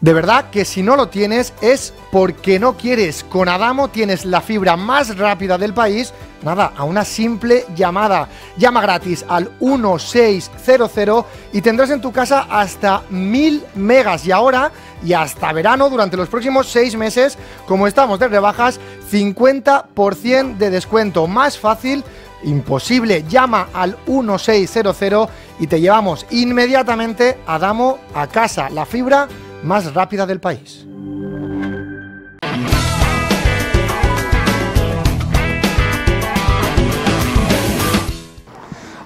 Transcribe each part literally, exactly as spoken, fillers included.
De verdad que si no lo tienes es porque no quieres. Con Adamo tienes la fibra más rápida del país, nada, a una simple llamada. Llama gratis al uno seis cero cero y tendrás en tu casa hasta mil megas. Y ahora, y hasta verano, durante los próximos seis meses, como estamos de rebajas, cincuenta por ciento de descuento. Más fácil imposible. Llama al uno seis cero cero y te llevamos inmediatamente a Adamo a casa. La fibra más rápida del país.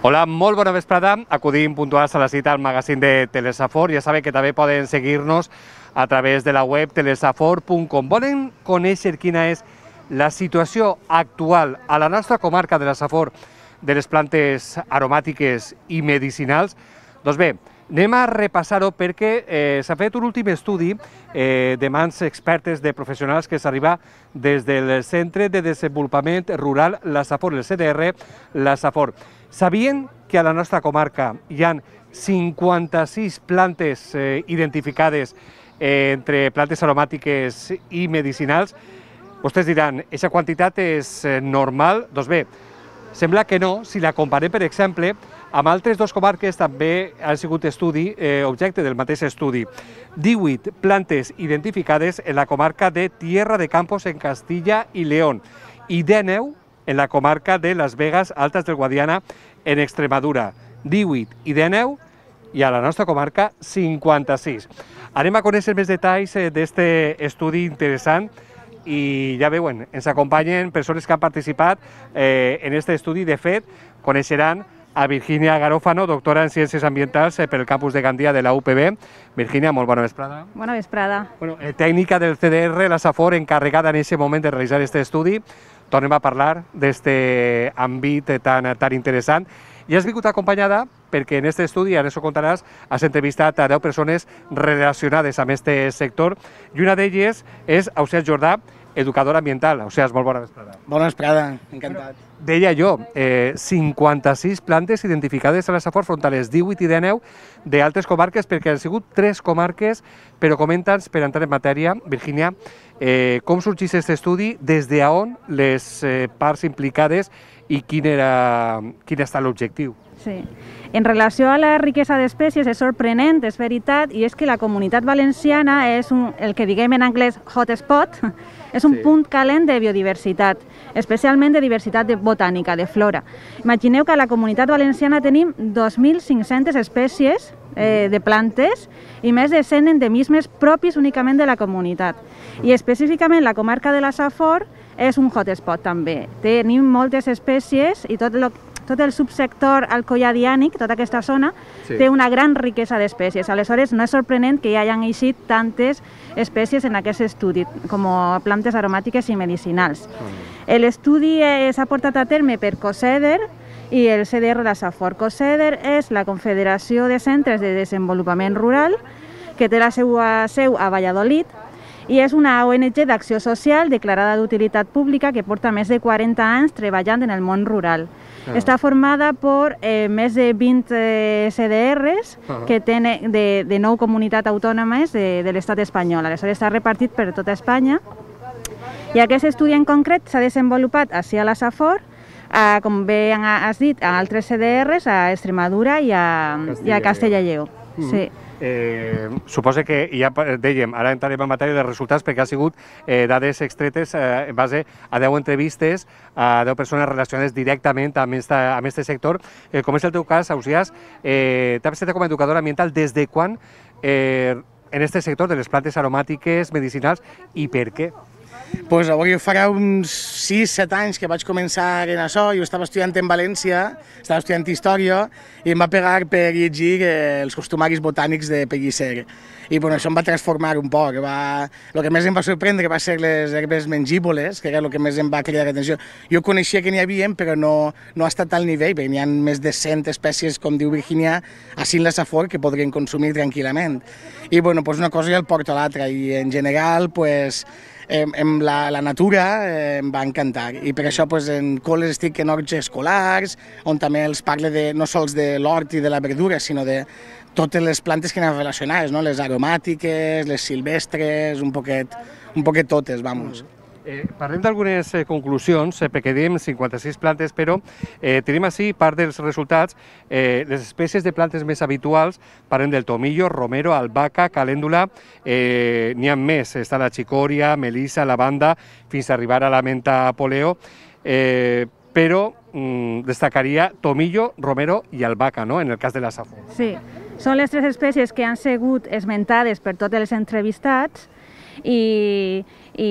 Hola, molt bona vesprada. Acudim puntuals a la cita al magazín de Telesafor. Ja saben que també poden seguir-nos a través de la web telesafor punt com. Volen conèixer quina és la situació actual a la nostra comarca de la Safor de les plantes aromàtiques i medicinals? Doncs bé, anem a repassar-ho perquè eh, s'ha fet un últim estudi eh, de mans expertes de professionals que s'arriba des del Centre de Desenvolupament Rural La Safor, el C D R La Safor. Sabien que a la nostra comarca hi ha cinquanta-sis plantes eh, identificades eh, entre plantes aromàtiques i medicinals? Vostès diran, aquesta quantitat és eh, normal? Doncs bé, sembla que no, si la comparem, per exemple, amb altres dues comarques també han sigut estudi, eh, objecte del mateix estudi. divuit plantes identificades en la comarca de Tierra de Campos, en Castilla y León, i dinou en la comarca de Las Vegas, Altas del Guadiana, en Extremadura. divuit i dinou, i a la nostra comarca cinquanta-sis. Anem a conèixer més detalls eh, d'aquest estudi interessant, i ja veuen, ens acompanyen persones que han participat eh, en aquest estudi. De fet, coneixeran a Virginia Garófano, doctora en Ciències Ambientals eh, per el campus de Gandia de la U P B. Virginia, molt bona vesprada. Bona vesprada. Bueno, eh, tècnica del C D R La Safor, encarregada en aquest moment de realitzar aquest estudi. Tornem a parlar d'aquest àmbit tan, tan interessant. I has vingut acompanyada perquè en aquest estudi, ara ens ho contaràs, has entrevistat a deu persones relacionades amb aquest sector, i una d'elles és Ausiàs Jordà, educadora ambiental. Ausiàs, molt bona vesprada. Bona vesprada, encantat. Deia jo, eh, cinquanta-sis plantes identificades a la Safor front a les divuit i dinou d'altres comarques, perquè han sigut tres comarques, però comenta'ns, per entrar en matèria, Virginia, eh, com sorgeix aquest estudi, des d'on les eh, parts implicades i quin, era, quin ha estat l'objectiu. Sí. En relació a la riquesa d'espècies és sorprenent, és veritat, i és que la Comunitat Valenciana és un, el que diguem en anglès hotspot, és un sí. punt calent de biodiversitat, especialment de diversitat de botànica, de flora. Imagineu que a la Comunitat Valenciana tenim dos mil cinc-centes espècies eh, de plantes i més de cent endemismes propis únicament de la comunitat. I específicament la comarca de la Safor és un hotspot també. Tenim moltes espècies i tot el tot el subsector alcoiadiànic, tota aquesta zona, sí. té una gran riquesa d'espècies. Aleshores, no és sorprenent que hi hagin eixit tantes espècies en aquest estudi, com plantes aromàtiques i medicinals. Mm. L'estudi s'ha portat a terme per COCEDER i el C D R La Safor. COCEDER és la Confederació de Centres de Desenvolupament Rural, que té la seva seu a Valladolid, i és una O N G d'acció social declarada d'utilitat pública que porta més de quaranta anys treballant en el món rural. Ah. Està formada per eh, més de vint eh, C D Rs ah. que tenen de, de nou comunitats autònomes de, de l'estat espanyol. Aleshores està repartit per tota Espanya. I aquest estudi en concret s'ha desenvolupat ací a la Safor, a, com bé has dit, a altres C D Rs, a Extremadura i a, i a Castella i Lleó. Mm-hmm. Sí. Eh, suposa que, ja dèiem, ara entrarem en matèria de resultats perquè ha sigut eh, dades extretes eh, en base a deu entrevistes a deu persones relacionades directament amb aquest sector. Eh, com és el teu cas, Ausiàs, eh, t'has estat com a educadora ambiental des de quan eh, en aquest sector de les plantes aromàtiques, medicinals, i per què? Pues avui farà uns sis set anys que vaig començar en això. Jo estava estudiant en València, estava estudiant Història, i em va pegar per llegir eh, els costumaris botànics de Pellicer. I bueno, això em va transformar un poc. Va... El que més em va sorprendre va ser les herbes mengívoles, que era el que més em va cridar l'atenció. Jo coneixia que n'hi havia, però no, no ha estat al nivell, perquè n'hi ha més de cent espècies, com diu Virginia, així en la Safor, que podrien consumir tranquil·lament. I bueno, pues una cosa ja el porta a l'altra, i en general, pues, hem, em, la, la natura eh, em va encantar i per això pues, en col·les estic en horts escolars, on també els parle de, no sols de l'hort i de la verdura, sinó de totes les plantes que anaven relacionades, no? Les aromàtiques, les silvestres, un poquet, un poquet totes, vamos. Eh, parlem d'algunes eh, conclusions, eh, perquè diem cinquanta-sis plantes, però eh, tenim així part dels resultats. Eh, les espècies de plantes més habituals, parlem del tomillo, romero, albahaca, calèndula, eh, n'hi ha més, està la xicòria, melissa, lavanda, fins a arribar a la menta poleo, eh, però mm, destacaria tomillo, romero i albahaca, no?, en el cas de la safor. Sí, són les tres espècies que han sigut esmentades per tots els entrevistats i, i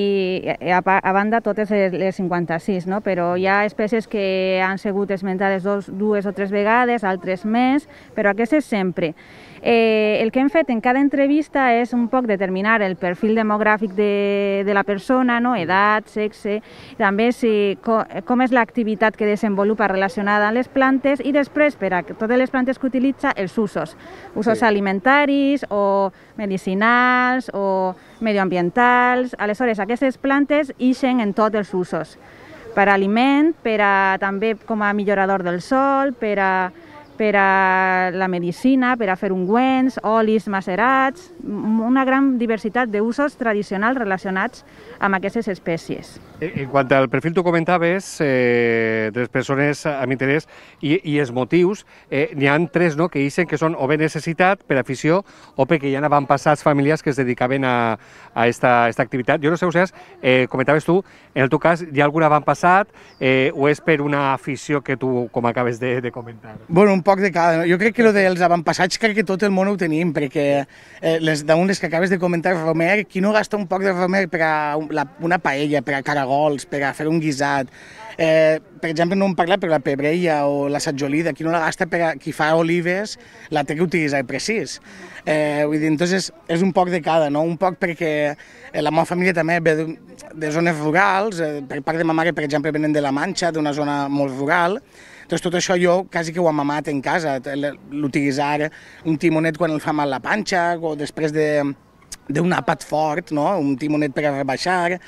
a, a banda totes les cinquanta-sis, no? Però hi ha espècies que han sigut esmentades dos, dues o tres vegades, altres més, però aquestes sempre. Eh, el que hem fet en cada entrevista és un poc determinar el perfil demogràfic de, de la persona, no? Edat, sexe, també si, com, com és l'activitat que desenvolupa relacionada amb les plantes i després, per a totes les plantes que utilitza, els usos. Usos sí. alimentaris o medicinals o medioambientals. Aleshores, aquestes plantes ixen en tots els usos. Per a aliment, per a, també com a millorador del sol, per a per a la medicina, per a fer ungüents, olis macerats, una gran diversitat d'usos tradicionals relacionats amb aquestes espècies. En quant al perfil, tu comentaves eh, de les persones amb interès i, i els motius, eh, n'hi ha tres, no?, que dicen que són o bé necessitat, per afició, o perquè ja n'han passat famílies que es dedicaven a, a esta, esta activitat. Jo no sé, Oseas, eh, comentaves tu, en el teu cas, hi ha algun avantpassat eh, o és per una afició que tu, com acabes de, de comentar? Bueno, un poc de cada. Jo crec que lo dels avantpassats crec que tot el món ho tenim, perquè eh, les d'un les que acabes de comentar, romer, qui no gasta un poc de romer per a la, una paella, per a caragols, per a fer un guisat. Eh, per exemple, no hem parlat, però la pebrella o la satjolida, qui no la gasta per a qui fa olives, la té que utilitzar precís. Eh, vull dir, entonces, és un poc de cada, no? Un poc perquè la meva família també ve de, de zones rurals, eh, per part de ma mare, per exemple, venen de la Manxa, d'una zona molt rural. Entonces, tot això jo quasi que ho he mamat en casa, l'utilitzar un timonet quan el fa mal la panxa o després d'un àpat fort, no? Un timonet per a rebaixar.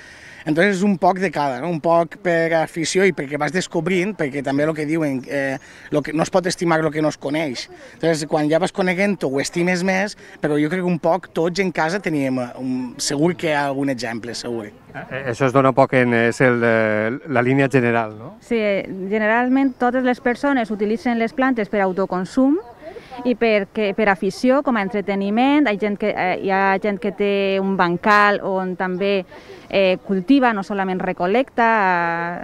Entonces, és un poc de cada, no? Un poc per afició i perquè vas descobrint, perquè també el que diuen, eh, lo que, no es pot estimar el que no es coneix. Entonces, quan ja vas coneguent-ho, ho estimes més, però jo crec que un poc tots en casa teníem, un, segur que hi ha algun exemple, segur. Això es dona un poc en és el, la línia general, no? Sí, generalment totes les persones utilitzen les plantes per autoconsum i per, que, per afició, com a entreteniment. Hi ha gent que, eh, hi ha gent que té un bancal on també eh, cultiva, no solament recolecta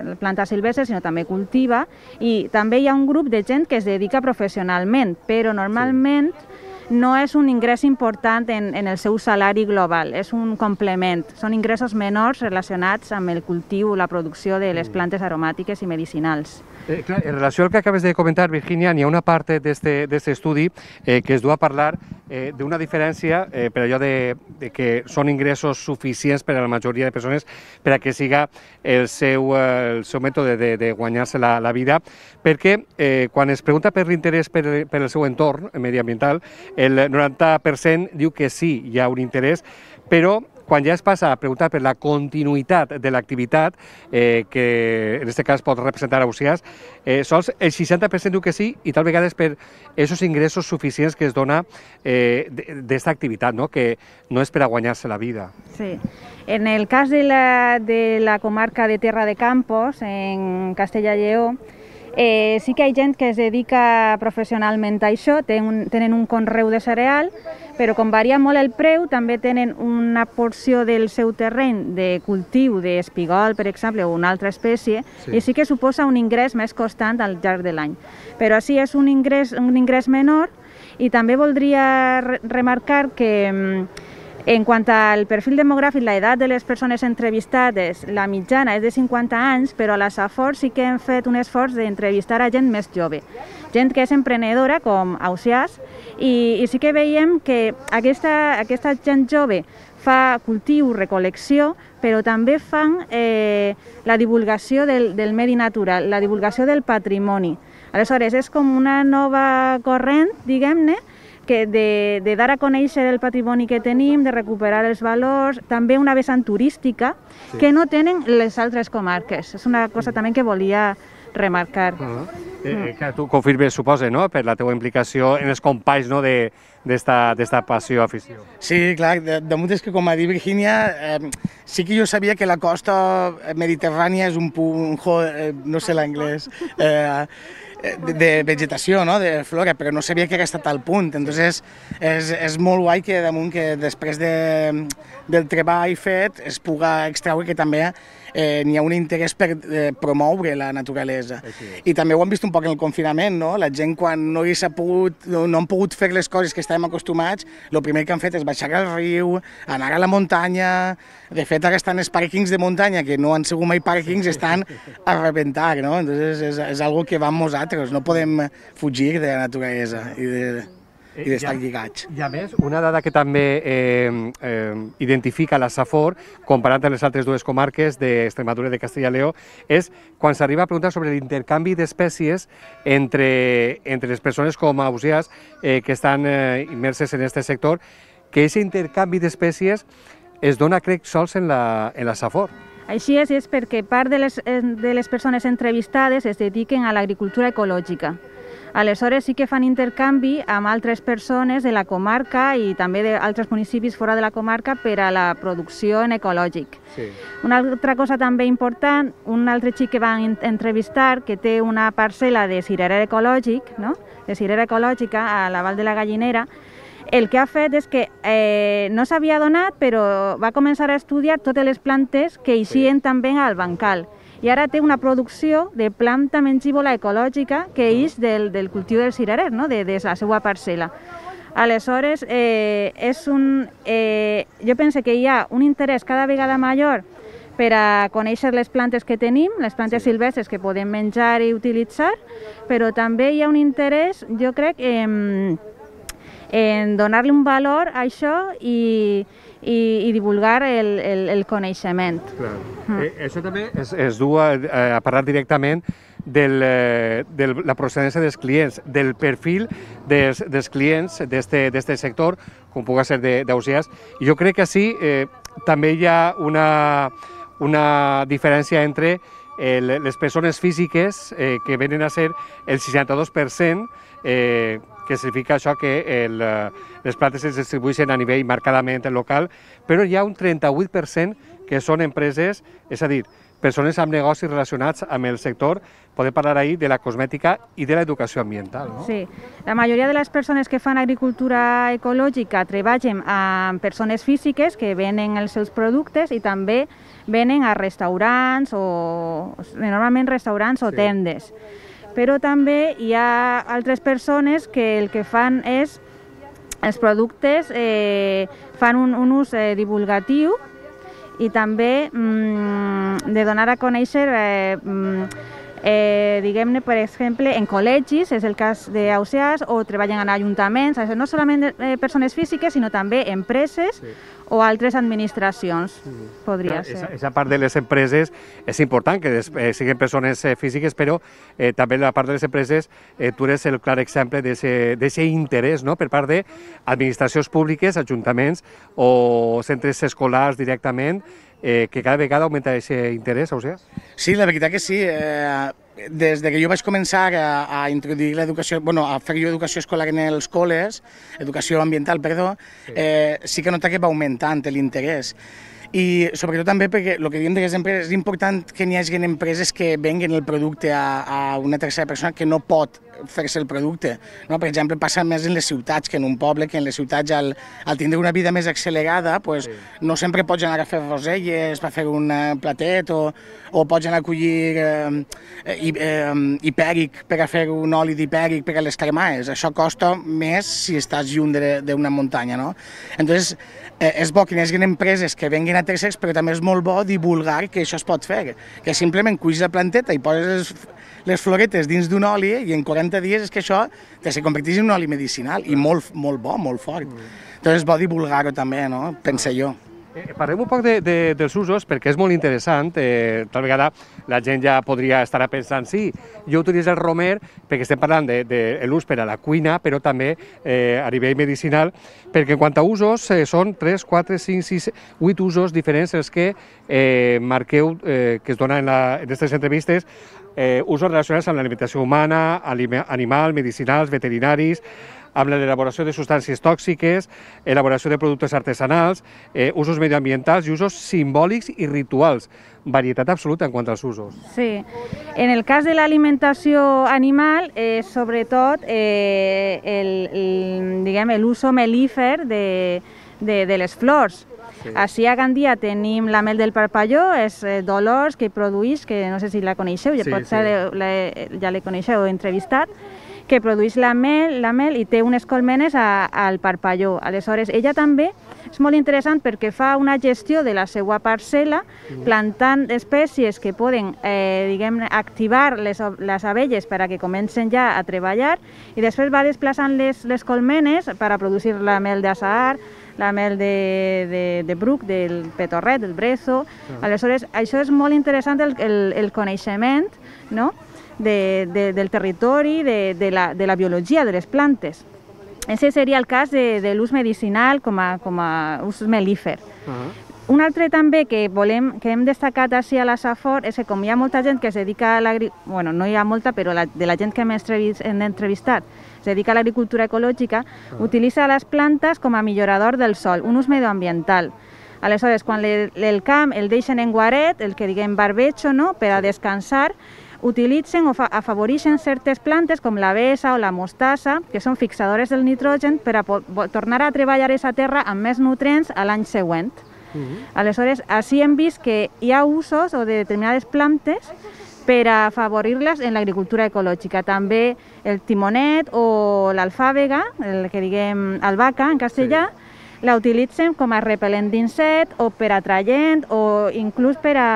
eh, plantes silvestres, sinó també cultiva. I també hi ha un grup de gent que es dedica professionalment, però normalment sí. no és un ingrés important en, en el seu salari global, és un complement. Són ingressos menors relacionats amb el cultiu, la producció de les plantes aromàtiques i medicinals. Eh, clar, en relació al que acabes de comentar, Virginia, n'hi ha una part d'aquest estudi eh, que es du a parlar eh, d'una diferència eh, per allò de, de que són ingressos suficients per a la majoria de persones per a que siga el seu, eh, el seu mètode de, de guanyar-se la, la vida, perquè eh, quan es pregunta per l'interès per, per el seu entorn mediambiental, el noranta per cent diu que sí, hi ha un interès, però quan ja es passa a preguntar per la continuïtat de l'activitat, eh, que en aquest cas pot representar a Oseas, eh, sols el seixanta per cent diu que sí i tal vegada és per aquests ingressos suficients que es dona eh, d'esta activitat, no? Que no és per a guanyar-se la vida. Sí. En el cas de la, de la comarca de Terra de Campos, en Castella i Lleó, Eh, sí que hi ha gent que es dedica professionalment a això, tenen, tenen un conreu de cereal, però com varia molt el preu, també tenen una porció del seu terreny de cultiu d'espigol, per exemple, o una altra espècie, sí. I sí que suposa un ingrés més constant al llarg de l'any. Però sí és un ingrés, un ingrés menor i també voldria re remarcar que en quant al perfil demogràfic, l'edat de les persones entrevistades, la mitjana és de cinquanta anys, però a la Safor sí que hem fet un esforç d'entrevistar a gent més jove, gent que és emprenedora, com Oseas, i, i sí que veiem que aquesta, aquesta gent jove fa cultiu, recol·lecció, però també fan eh, la divulgació del, del medi natural, la divulgació del patrimoni. Aleshores, és com una nova corrent, diguem-ne, que de, de dar a conèixer el patrimoni que tenim, de recuperar els valors, també una vessant turística sí. que no tenen les altres comarques. És una cosa també que volia remarcar. Uh -huh. eh, que tu confirmes, suposa, no?, per la teva implicació en els companys, no?, de d'esta passió, afició. Sí, clar, de, de molt és que, com ha dit Virginia, eh, sí que jo sabia que la costa mediterrània és un punt, eh, no sé l'anglès, eh, de, de vegetació, no?, de flora, però no sabia que era estat al punt. Entonces, és, és molt guai que damunt que després de, del treball fet es puga extraure que també eh, n'hi ha un interès per eh, promoure la naturalesa. I també ho hem vist un poc en el confinament, no? La gent quan no, s'ha pogut, no, no han pogut fer les coses que estàvem acostumats, el primer que han fet és baixar al riu, anar a la muntanya. De fet, ara estan els pàrquings de muntanya, que no han sigut mai pàrquings, estan a rebentar, no? Entonces, és, és algo que va amb nosaltres, no podem fugir de la naturalesa i de... i d'estar lligats. I a més, una dada que també eh, eh, identifica la Safor, comparant amb les altres dues comarques d'Extremadura i de Castella i Lleó, és quan s'arriba a preguntar sobre l'intercanvi d'espècies entre, entre les persones com ausiàs eh, que estan eh, immerses en aquest sector, que aquest intercanvi d'espècies es dona, crec, sols en la, en la Safor. Així és, és perquè part de les, de les persones entrevistades es dediquen a l'agricultura ecològica. Aleshores sí que fan intercanvi amb altres persones de la comarca i també d'altres municipis fora de la comarca per a la producció en ecològic. Sí. Una altra cosa també important, un altre xic que van entrevistar que té una parcel·la de cirerer ecològic, no? de cirerer ecològica a la Val de la Gallinera, el que ha fet és que eh, no s'havia donat, però va començar a estudiar totes les plantes que eixien també al bancal. I ara té una producció de planta mengívola ecològica que eix del, del cultiu del cirerer, no? de, de la seva parcel·la. Aleshores, eh, és un, eh, jo penso que hi ha un interès cada vegada major per a conèixer les plantes que tenim, les plantes silvestres que podem menjar i utilitzar, però també hi ha un interès, jo crec, en, en donar-li un valor a això i I, i divulgar el, el, el coneixement. Clar. Mm. Eh, això també es, es du a, a parlar directament del, de la procedència dels clients, del perfil dels, dels clients d'aquest sector, com pugui ser d'ausiàs. I jo crec que sí, eh, també hi ha una, una diferència entre el, les persones físiques eh, que venen a ser el seixanta-dos per cent, eh, que significa això que el, les plantes es distribueixen a nivell marcadament local, però hi ha un trenta-vuit per cent que són empreses, és a dir, persones amb negocis relacionats amb el sector. Podem parlar ahir de la cosmètica i de l'educació ambiental, no? Sí, la majoria de les persones que fan agricultura ecològica treballen amb persones físiques que venen els seus productes i també venen a restaurants o normalment restaurants o tendes. Però també hi ha altres persones que el que fan és, els productes eh, fan un, un ús eh, divulgatiu i també mm, de donar a conèixer, eh, eh, diguem-ne, per exemple, en col·legis, és el cas d'Ausiàs, o treballen en ajuntaments, no solament eh, persones físiques, sinó també empreses, sí. o altres administracions, sí. podria ser. Aquesta part de les empreses és important, que eh, siguin persones eh, físiques, però eh, també la part de les empreses, eh, tu eres el clar exemple d'aquest interès, no?, per part d'administracions públiques, ajuntaments o centres escolars directament, eh, que cada vegada augmenta aquest interès, Ausiàs? Sí, la veritat que sí. Eh, des de que jo vaig començar a, a introduir l'educació, bueno, a fer jo educació escolar en els col·les, educació ambiental, perdó, sí, eh, sí que nota que va augmentant l'interès. I sobretot també perquè el que diem de les empreses, és important que n'hi hagi empreses que venguen el producte a, a una tercera persona que no pot fer-se el producte. No? Per exemple, passa més en les ciutats que en un poble, que en les ciutats al, al tindre una vida més accelerada pues, sí. no sempre pots anar a fer roselles per fer un platet o, o pots anar a collir eh, eh, hipèric per a fer un oli d'hipèric per a les cremades. Això costa més si estàs lluny d'una muntanya. No? Entonces, eh, és bo que hi hagi empreses que venguin a tercers, però també és molt bo divulgar que això es pot fer, que simplement cuis la planteta i poses les, les floretes dins d'un oli i en quaranta dies és que això se converteix en un oli medicinal i molt, molt bo, molt fort. Entonces és bo divulgar-ho també, no? Penso jo. Eh, parlem un poc de, de, dels usos, perquè és molt interessant. Eh, tal vegada la gent ja podria estar pensant, sí, jo utilitzo el romer perquè estem parlant de, de l'ús per a la cuina, però també eh, a nivell medicinal, perquè en quant a usos eh, són tres, quatre, cinc, sis, vuit usos diferents els que eh, marqueu, eh, que es donen en, la, en aquestes entrevistes, eh, usos relacionats amb l'alimentació humana, animal, medicinals, veterinaris, amb l'elaboració de substàncies tòxiques, elaboració de productes artesanals, eh, usos medioambientals i usos simbòlics i rituals. Varietat absoluta en quant als usos. Sí. En el cas de l'alimentació animal, eh, sobretot eh, el, el, diguem, l'uso melífer de, de, de les flors. Sí. Així a Gandia tenim la mel del parpalló, és eh, Dolors, que produeix, que no sé si la coneixeu, ja, sí, potser sí. la, ja la coneixeu, he entrevistat, que produeix la mel, la mel i té unes colmenes a, al parpalló. Aleshores, ella també és molt interessant perquè fa una gestió de la seva parcel·la, plantant espècies que poden eh, diguem, activar les, les abelles per a que comencen ja a treballar i després va desplaçant les, les colmenes per a produir la mel d'azahar, la mel de, de, de bruc, del petorret, del brezo. Aleshores, això és molt interessant el, el, el coneixement, no?, De, de, del territori, de, de, la, de la biologia de les plantes. Ese seria el cas de, de l'ús medicinal com a, com a ús melífer. Uh-huh. Un altre també que, volem, que hem destacat així a la Safor és que com hi ha molta gent que es dedica a l'agricultura, bueno, no hi ha molta, però la, de la gent que hem entrevistat es dedica a l'agricultura ecològica, uh-huh. utilitza les plantes com a millorador del sòl, un ús medioambiental. Aleshores, quan le, el camp el deixen en guaret, el que diguem barbecho, no?, per a descansar, utilitzen o afavoreixen certes plantes com la bessa o la mostassa, que són fixadores del nitrogen per a tornar a treballar aquesta terra amb més nutrients a l'any següent. Uh-huh. Aleshores, així hem vist que hi ha usos o de determinades plantes per a afavorir-les en l'agricultura ecològica. També el timonet o l'alfàbega, el que diguem albahaca en castellà, sí. la utilitzen com a repel·lent d'insectes o per atraient o inclús per a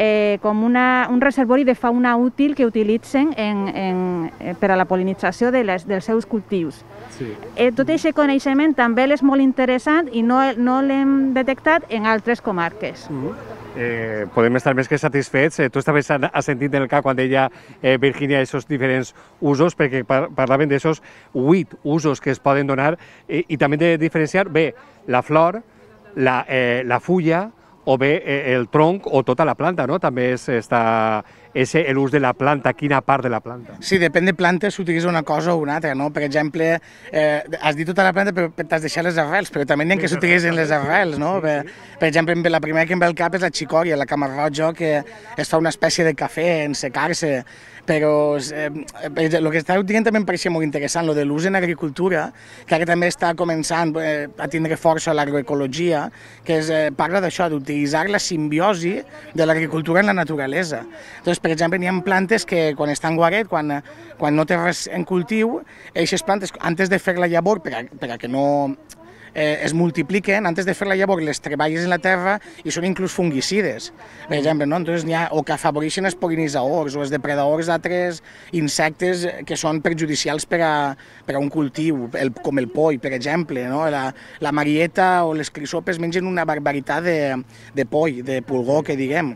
Eh, com una, un reservori de fauna útil que utilitzen en, en, eh, per a la polinització de les, dels seus cultius. Sí. Eh, tot aquest coneixement també és molt interessant i no, no l'hem detectat en altres comarques. Mm-hmm. eh, podem estar més que satisfets. Eh, tu estaves assentint en el cap quan deia eh, Virginia aquests diferents usos, perquè par parlaven d'aquests vuit usos que es poden donar eh, i també de diferenciar bé la flor, la, eh, la fulla, o bé eh, el tronc o tota la planta, no? També és l'ús de la planta, quina part de la planta. Sí, depèn de planta s'utilitza una cosa o una altra, no? Per exemple, eh, has dit tota la planta però t'has deixat les arrels, però també n'hi ha que s'utilitzen les arrels, no? Per, per exemple, la primera que em ve al cap és la xicòria, la camarroja, que es fa una espècie de cafè en secar-se, però eh, el que estàveu dient també em pareixia molt interessant, el de l'ús en agricultura, que ara també està començant eh, a tindre força l'agroecologia, que es, eh, parla d'això, d'utilitzar la simbiosi de l'agricultura en la naturalesa. Doncs, per exemple, n'hi ha plantes que quan estan guaret, quan, quan no té res en cultiu, aquestes plantes, antes de fer la llavor, per a, per a que no eh, es multipliquen, antes de fer la llavor les treballes en la terra i són inclús fungicides, per exemple, no? Entonces, ha, o que afavoreixen els pol·linitzadors o els depredadors d'altres insectes que són perjudicials per a, per a un cultiu, el, com el poll, per exemple, no? La, la marieta o les crisopes mengen una barbaritat de, de poll, de pulgó, que diguem.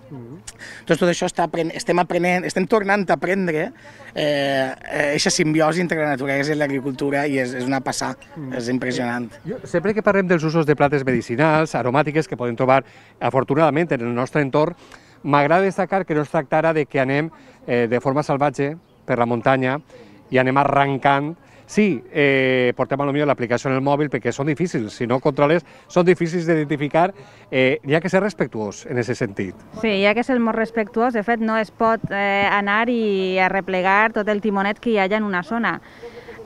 Doncs tot això està, estem aprenent, estem tornant a aprendre aquesta eh, simbiosi entre la naturalesa i l'agricultura i és, és una passada, és impressionant. Jo, sempre que parlem dels usos de plantes medicinals, aromàtiques, que podem trobar afortunadament en el nostre entorn, m'agrada destacar que no es tractara de que anem eh, de forma salvatge per la muntanya i anem arrencant. Sí, eh, portem a lo millor l'aplicació en el mòbil perquè són difícils, si no controles, són difícils d'identificar, eh, hi ha que ser respectuós en aquest sentit. Sí, hi ha que ser molt respectuós, de fet no es pot eh, anar i arreplegar tot el timonet que hi ha en una zona.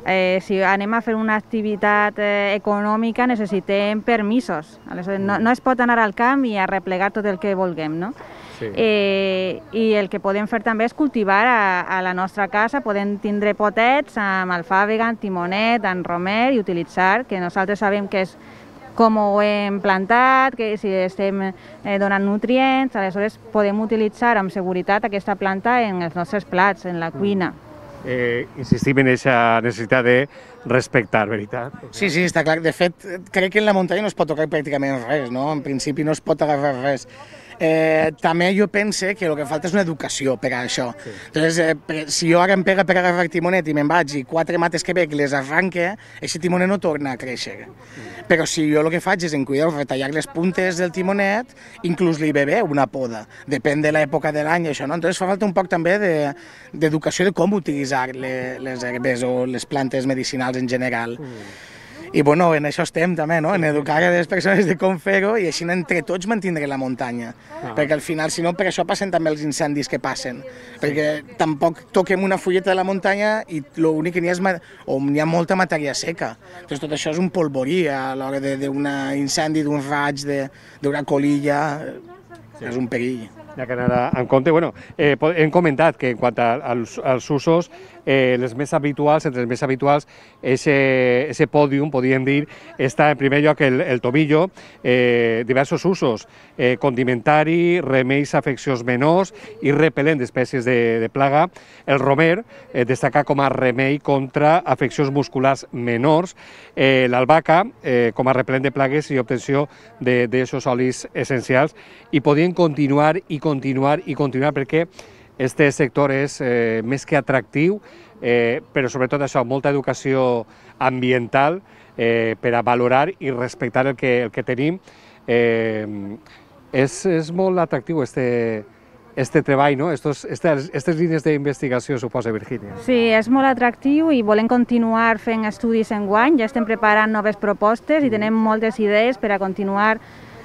Eh, si anem a fer una activitat eh, econòmica necessitem permisos, aleshores no, no es pot anar al camp i arreplegar tot el que vulguem, no? Sí. Eh, I el que podem fer també és cultivar a, a la nostra casa, podem tindre potets amb alfàbega, amb timonet, amb romer i utilitzar, que nosaltres sabem que és com ho hem plantat, que si estem eh, donant nutrients, aleshores podem utilitzar amb seguretat aquesta planta en els nostres plats, en la cuina. Eh, insistim en aquesta necessitat de respectar, veritat? Sí, sí, està clar. De fet, crec que en la muntanya no es pot tocar pràcticament res, no? En principi no es pot agafar res. Eh, també jo pense que el que falta és una educació per a això. Sí. Entonces, eh, per, si jo ara em pega per agafar el timonet i me'n vaig i quatre mates que veig les arranque, aquest timonet no torna a créixer. Sí. Però si jo el que faig és en cuidar, retallar les puntes del timonet, inclús li ve bé una poda, depèn de l'època de l'any, això, no? Entonces fa falta un poc també d'educació de, de com utilitzar les, les herbes o les plantes medicinals en general. Mm. I bueno, en això estem també, no? En educar a les persones de com fer-ho i així entre tots mantindre la muntanya. Ah. Perquè al final, si no, per això passen també els incendis que passen. Perquè tampoc toquem una fulleta de la muntanya i l'únic que n'hi ha és o n'hi ha molta matèria seca. Doncs tot això és un polvorí a l'hora d'un incendi, d'un raig, d'una colilla, sí. És un perill. Hi ha que anar en compte. Bueno, eh, hem comentat que en quant als, als usos, eh, les més habituals, entre els més habituals, ese pòdium, podríem dir, està en primer lloc el, el tomillo, eh, diversos usos, eh, condimentari, remeis a afeccions menors i repel·lent d'espècies de, de plaga. El romer, eh, destaca com a remei contra afeccions musculars menors. Eh, L'albahaca, eh, com a repel·lent de plagues i obtenció d'aquests olis essencials. I podien continuar i continuar i continuar perquè este sector és eh, més que atractiu, eh, però sobretot això, molta educació ambiental eh, per a valorar i respectar el que, el que tenim. Eh, és, és molt atractiu este, este treball, no? Estos, estes, estes línies d'investigació, suposa, Virgínia. Sí, és molt atractiu i volem continuar fent estudis enguany, ja estem preparant noves propostes i tenem moltes idees per a continuar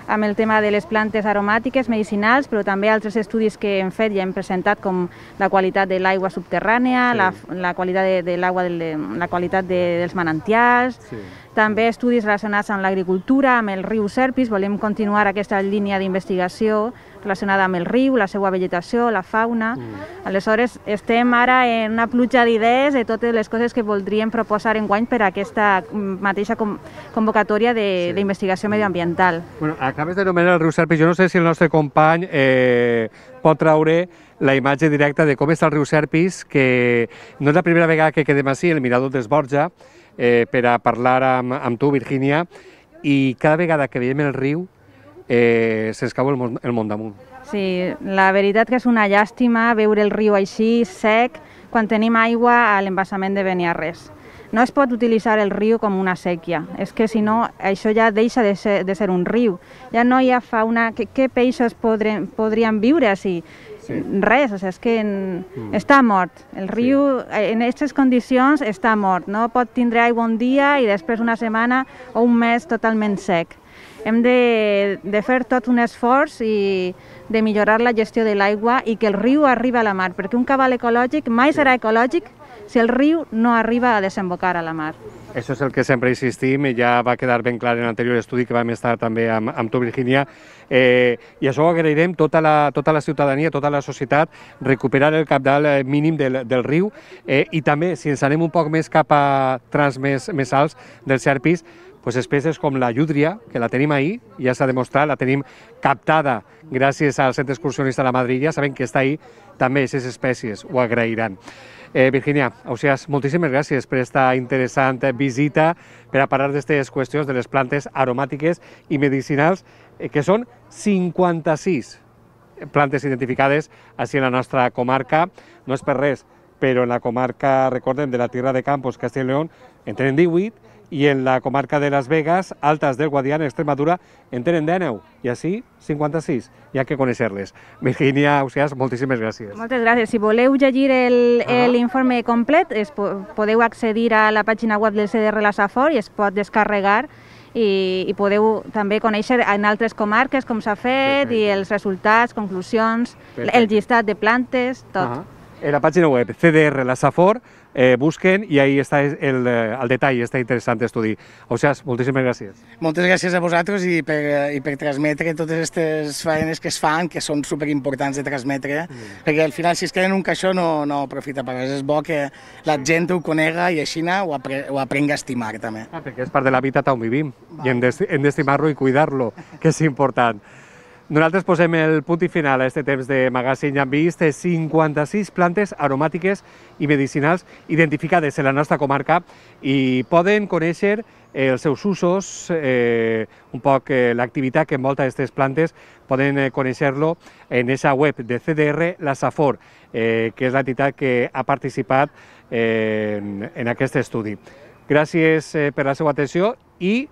amb el tema de les plantes aromàtiques, medicinals, però també altres estudis que hem fet i hem presentat, com la qualitat de l'aigua subterrània, sí. la, la qualitat de, de l'aigua, la qualitat de, dels manantials, sí. També estudis relacionats amb l'agricultura, amb el riu Serpis. Volem continuar aquesta línia d'investigació relacionada amb el riu, la seva vegetació, la fauna. Mm. Aleshores, estem ara en una pluja d'idees de totes les coses que voldríem proposar enguany per a aquesta mateixa convocatòria d'investigació sí. medioambiental. Bueno, acabes de nomenar el riu Serpis. Jo no sé si el nostre company eh, pot traure la imatge directa de com està el riu Serpis, que no és la primera vegada que quedem així, el Mirador dels Borja, eh, per a parlar amb, amb tu, Virgínia, i cada vegada que veiem el riu eh, se'ns cau el món, el món damunt. Sí, la veritat que és una llàstima veure el riu així, sec, quan tenim aigua a l'embassament de Beniarrés. No es pot utilitzar el riu com una sèquia, és que si no això ja deixa de ser, de ser un riu. Ja no hi ha fauna, què, què peixos podrien, podrien viure així? Sí. Res, o sigui, és que en, mm. està mort. El riu sí. en aquestes condicions està mort. No pot tindre aigua un dia i després una setmana o un mes totalment sec. Hem de, de fer tot un esforç i de millorar la gestió de l'aigua i que el riu arribi a la mar, perquè un cabal ecològic mai sí. serà ecològic si el riu no arriba a desembocar a la mar. Això és el que sempre insistim i ja va quedar ben clar en l'anterior estudi que vam estar també amb, amb tu, Virgínia. Eh, I això ho agrairem tota la, tota la ciutadania, tota la societat, recuperar el cabal mínim del, del riu eh, i també, si ens anem un poc més cap a trams més, més alts del Serpis, pues espècies com la llúdria, que la tenim ahí, ja s'ha demostrat, la tenim captada gràcies al Centre Excursionista de la Madrilla, sabem que està ahí, també aquestes espècies ho agrairan. Eh, Virgínia, Ausiàs, moltíssimes gràcies per aquesta interessant visita, per a parlar d'aquestes qüestions de les plantes aromàtiques i medicinals, eh, que són cinquanta-sis plantes identificades així en la nostra comarca. No és per res, però en la comarca, recordem, de la Tierra de Campos, Castilla y León, en tenen divuit, i en la comarca de Las Vegas, Altas del Guadiana, Extremadura, en tenen dinou, i així cinquanta-sis. Hi ha que conèixer-les. Virgínia, Ausiàs, moltíssimes gràcies. Moltes gràcies. Si voleu llegir l'informe ah. complet, es, podeu accedir a la pàgina web del C D R La Safor i es pot descarregar i, i podeu també conèixer en altres comarques com s'ha fet Perfecte. I els resultats, conclusions, Perfecte. El llistat de plantes, tot. Ah. En la pàgina web C D R La Safor eh, busquen i ahí està el, el detall, està interessant estudi. Ausiàs, moltíssimes gràcies. Moltes gràcies a vosaltres i per, i per transmetre totes aquestes feines que es fan, que són superimportants de transmetre, mm. perquè al final si es queda en un caixó no, no aprofita per res. És bo que la gent ho conega i així ho, apre, ho aprenga a estimar també. Ah, perquè és part de l'hàbitat on vivim Va. I hem d'estimar-lo i cuidar-lo, que és important. Nosaltres posem el punt i final a aquest temps de magazín. Ja hem vist cinquanta-sis plantes aromàtiques i medicinals identificades en la nostra comarca i poden conèixer els seus usos, eh, un poc eh, l'activitat que envolta aquestes plantes, poden eh, conèixer-lo en aquesta web de C D R, la Safor, eh, que és l'entitat que ha participat eh, en, en aquest estudi. Gràcies eh, per la seva atenció i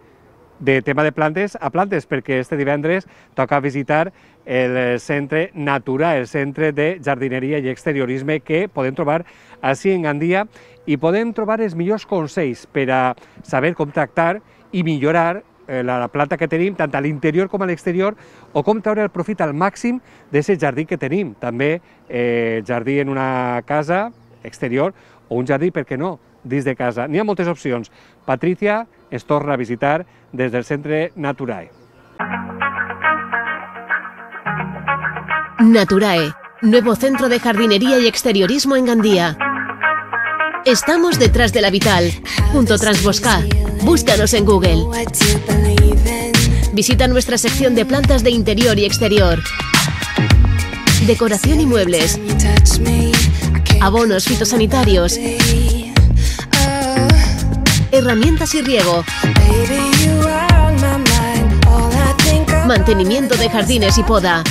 de tema de plantes a plantes, perquè este divendres toca visitar el Centre Natura, el Centre de Jardineria i Exteriorisme que podem trobar així en Gandia i podem trobar els millors consells per a saber com tractar i millorar la planta que tenim, tant a l'interior com a l'exterior, o com treure el profit al màxim d'aquest jardí que tenim. També eh, jardí en una casa exterior o un jardí, per què no, dins de casa. N'hi ha moltes opcions. Patricia ens torna a visitar des del Centre Naturae. Naturae, nuevo centro de jardinería y exteriorismo en Gandía. Estamos detrás de la Vital, junto a Transbosca. Búscanos en Google. Visita nuestra sección de plantas de interior y exterior, decoración y muebles, abonos fitosanitarios, herramientas y riego, mantenimiento de jardines y poda.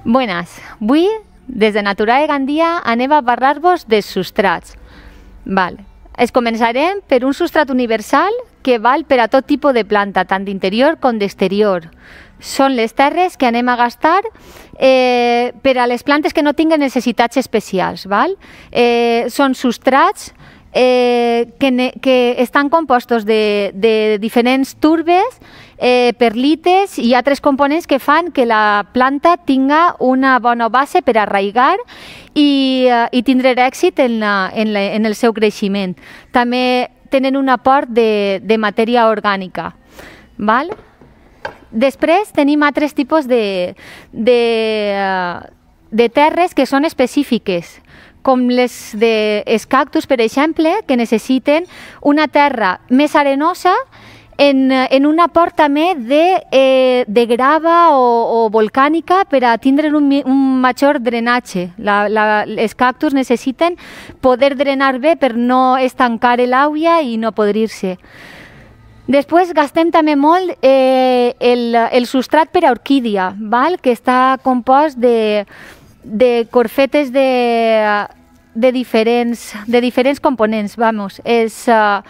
Buenas, avui des de Naturae Gandia anem a parlar-vos dels substrats. Val. Es començarem per un substrat universal que val per a tot tipus de planta, tant d'interior com d'exterior. Són les terres que anem a gastar eh, per a les plantes que no tinguen necessitats especials. Val? Eh, són substrats eh, que, ne, que estan compostos de, de diferents turbes, eh, perlites i altres components que fan que la planta tinga una bona base per arraigar i, uh, i tindre èxit en, la, en, la, en el seu creixement. També tenen un aport de, de matèria orgànica. Val? Després tenim altres tipus de, de, uh, de terres que són específiques, com les dels cactus, per exemple, que necessiten una terra més arenosa en, en un aport també de, eh, de grava o, o volcànica per a tindre un, un major drenatge. La, la, els cactus necessiten poder drenar bé per no estancar l'aigua i no podrir-se. Després gastem també molt eh, el, el substrat per a orquídia, val? Que està compost de, de corfetes de, de, diferents, de diferents components. Vamos. Es, uh,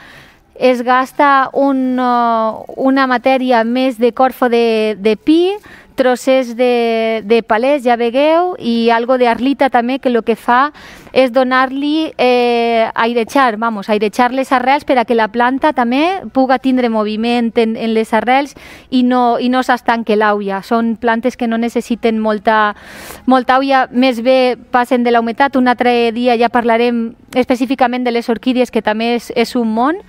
es gasta un, uh, una matèria més de corfo de, de pi, trossers de, de palès, ja vegueu, i algo d'arlita també, que el que fa és donar-li eh, airejar, vamos, airejar les arrels per a que la planta també puga tindre moviment en, en les arrels i no, i no s'estanque l'aigua. Són plantes que no necessiten molta, molta aigua, més bé passen de la humitat. Un altre dia ja parlarem específicament de les orquídies, que també és, és un món.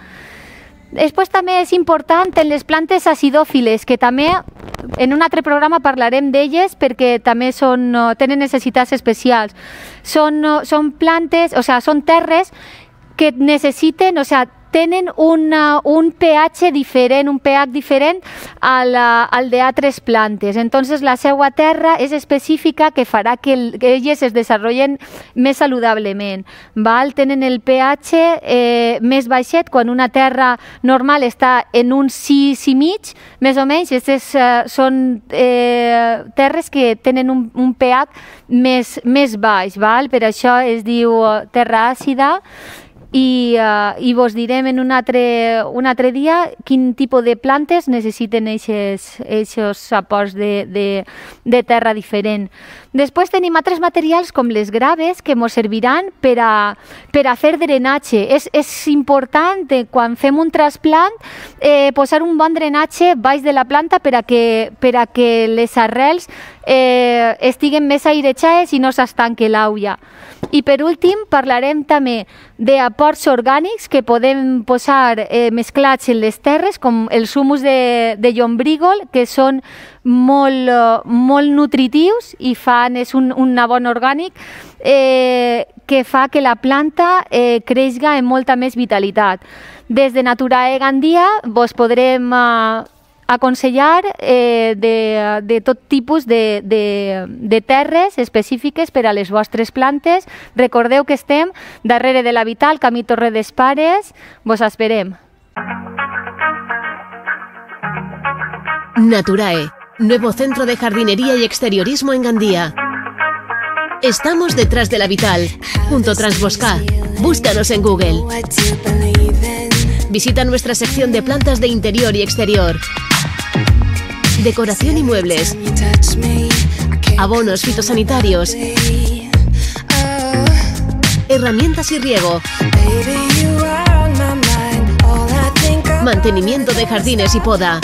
Després també és important en les plantes acidòfiles, que també en un altre programa parlarem d'elles perquè també són, tenen necessitats especials. Són, són plantes, o sigui, són terres que necessiten, o sigui, tenen una, un pH diferent, un pH diferent al, al d'altres plantes. Entonces la seva terra és específica, que farà que, el, que elles es desenvolupen més saludablement. Val? Tenen el pH eh, més baixet, quan una terra normal està en un sis i mig, més o menys. Aquestes eh, són eh, terres que tenen un, un pH més, més baix. Val? Per això es diu terra àcida. I, uh, i vos direm en un altre, un altre dia quin tipus de plantes necessiten aquests aports de, de, de terra diferent. Després tenim altres materials com les graves que ens serviran per a, per a fer drenatge. És, és important eh, quan fem un trasplant eh, posar un bon drenatge baix de la planta per a que, per a que les arrels eh, estiguen més airejades i no s'estanque l'aigua. I per últim parlarem també d'aports orgànics que podem posar eh, mesclats en les terres, com els humus de, de llombrígol, que són molt, molt nutritius i fan, és un, un abon orgànic eh, que fa que la planta eh, creixga amb molta més vitalitat. Des de Naturae Gandia vos podrem eh, aconsellar eh, de, de tot tipus de, de, de terres específiques per a les vostres plantes. Recordeu que estem darrere de la Vital, camí Torre d'Espares. Vos esperem. Naturae, nuevo centro de jardinería y exteriorismo en Gandía. Estamos detrás de la Vital, junto a Transbosca. Búscanos en Google. Visita nuestra sección de plantas de interior y exterior, decoración y muebles, abonos fitosanitarios, herramientas y riego, mantenimiento de jardines y poda.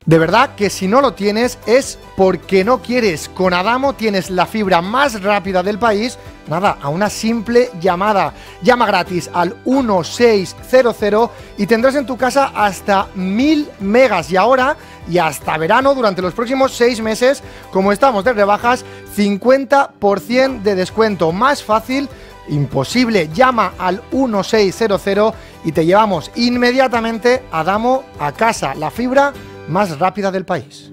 De verdad que si no lo tienes es porque no quieres. Con Adamo tienes la fibra más rápida del país, nada, a una simple llamada. Llama gratis al uno seis cero cero y tendrás en tu casa hasta mil megas. Y ahora, y hasta verano, durante los próximos seis meses, como estamos de rebajas, cincuenta por ciento de descuento. Más fácil imposible. Llama al uno seis cero cero y te llevamos inmediatamente Adamo a casa. La fibra más rápida del país.